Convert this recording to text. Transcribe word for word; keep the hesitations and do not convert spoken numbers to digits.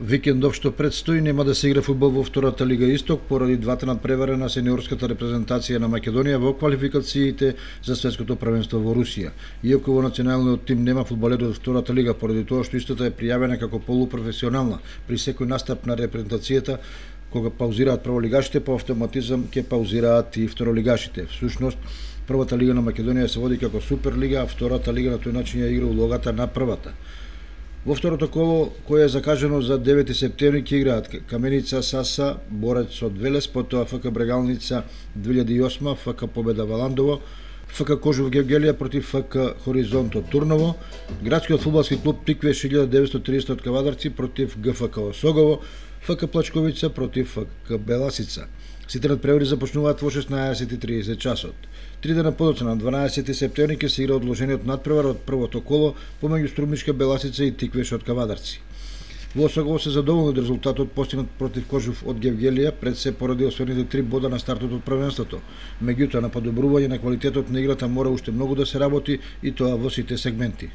Викендов што предстои нема да се игра фудбал во втората лига Исток поради двата надпревари на сениорската репрезентација на Македонија во квалификациите за светското првенство во Русија. Иако во националниот тим нема фудбалери од втората лига поради тоа што истата е пријавена како полупрофесионална при секој настап на репрезентацијата, кога паузираат прволигашите, по автоматизам ќе паузираат и второлигашите. Всушност, првата лига на Македонија се води како Суперлига, а втората лига на тој начин ја игра улогата на првата. Во второто коло, кое е закажано за девети септември, ќе играат Каменица Саса, Борец од Велес, потоа ФК Брегалница две илјади и осма, ФК Победа Валандово, ФК Кожув Гевгелија против ФК Хоризонт од Турново, градскиот фудбалски клуб Тиквеш илјада деветстотини и триесет од Кавадарци против ГФК Осогово, ФК Плачковица против ФК Беласица. Сите надпревари започнуваат во шеснаесет и триесет часот. Три дена подоцна на дванаесети септември ќе се игра одложениот надпревар од првото коло помеѓу Струмичка Беласица и Тиквеш од Кавадарци. Во Осогово се задоволни од резултатот постигнат против Кожув од Гевгелија, пред се поради освоените три бода на стартот од првенството. Меѓутоа, на подобрување на квалитетот на играта мора уште многу да се работи, и тоа во сите сегменти.